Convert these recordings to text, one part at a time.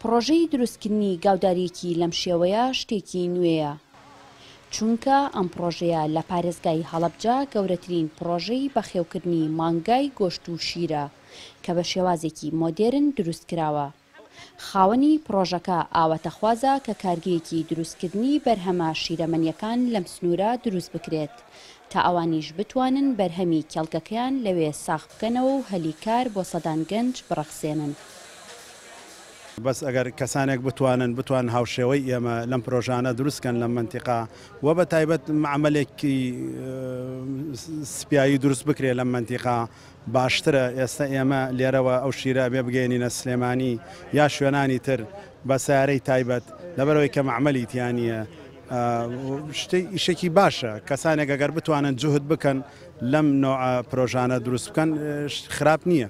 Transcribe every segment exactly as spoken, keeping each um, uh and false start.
پڕۆژەی دروستکردنی گاوداریەکی لەم شێوەیە شتێکی نوێیە، چونکە ئەم پڕۆژەیە لە پارێزگای هەڵەبجە گەورەترین پڕۆژەی بەخێوکردنی مانگای گۆشت و شیرە کە بە شێوازێکی مۆدێرن دروست کراوە. خاوەنی پڕۆژەکە ئاواتەخوازە کە کارگەیەکی دروستکردنی بەرهەمە شیرەمەنیەکان لەم سنوورە دروست بکرێت تا ئەوانیش بتوانن بەرهەمی کێڵگەکەیان لەوێ ساغ بکەنەوە و هەلی کار بۆ سەدان گەنج بڕەخسێنن. بەس ئەگەر کەسانێک بتوانن بتوان هاوشێوەی ئێمە لەم پرۆژانە دروستکەن لەم مەنتیقا و بە تایبەت مەعمەلێکی سپیایی دروست بکرێت لەم مەنتیقا باشترە. ئێستا ئێمە لێرەوە ئەو شیرە بێ بگەێنینە سلێمانی یا شوێنانی تر بە سیارەی تایبەت، لەبەرەوەی کە مەعمەلی تیانیە. شتێ ئیشێکی باشە کەسانێک ئەگەر بتوانن جوهد بکەن لەم نوع پرۆژانە دروست بکەن خراپ نییە.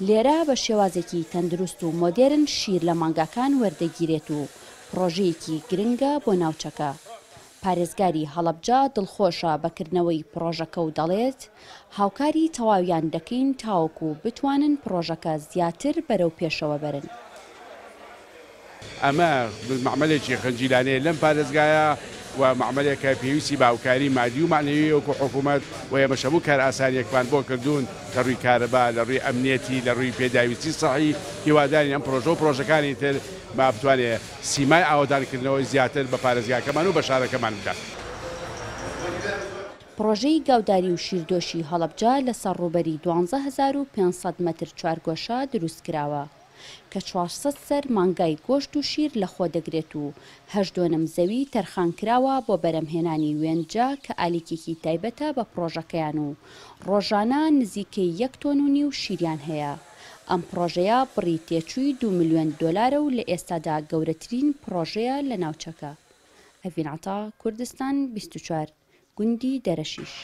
لێرە بە شێوازێکی تەندروست و مۆدێرن شیر لە مانگاکان وەردەگیرێت و پرۆژەیەکی گرنگە بۆ ناوچەکە. پارێزگاری هەڵەبجە دڵخۆشە بەکردنەوەی پرۆژەکە و دەڵێت هاوکاری تەواویان دەکەین تاوەکو بتوانن پرۆژەکە زیاتر بەرەو پێشەوە بەرن. ئەمە مەعمەلێکی خنجیلانەیە لەم پارێزگایە و مەعمەلێکە پێویستی بە هاوکاری مادی و مەعنەوی وەکو حکوومەت و ئێمەش هەموو کارئاسانیەکمان بۆ کردوون لە ڕووی کارەبا، لە ڕووی ئەمنیەتی، لە ڕووی پێداویستی سەحی. هیوادارین ئەم پرۆژە و پرۆژەکانی تر ما بتوانێت سیمای ئاوەدانکردنەوەی زیاتر بە پارێزگاکەمان و بە شارەکەمان بدات. پرۆژەی گاوداری و شیردۆشی هەڵەبجە لەسەر ڕووبەری دوانزە هەزار و پێنج سەد مەتر چوارگۆشە دروست کراوە کە چوار سەد سەر مانگای گۆشت و شیر لەخۆ دەگرێت و هەشت دۆنم زەوی تەرخان کراوە بۆ بەرەمهێنانی وێنجە کە ئالیکێکی تایبەتە بە پرۆژەکەیان و ڕۆژانە نزیکەی یەک تۆن و نیو شیریان هەیە. ئەم پرۆژەیە بڕی تێچووی دوو ملیۆن دۆلارە و لە ئێستادا گەورەترین پرۆژەیە لە ناوچەکە. ئەڤین عەتا، کوردستان بیست و چوار، گوندی دەرەشیش.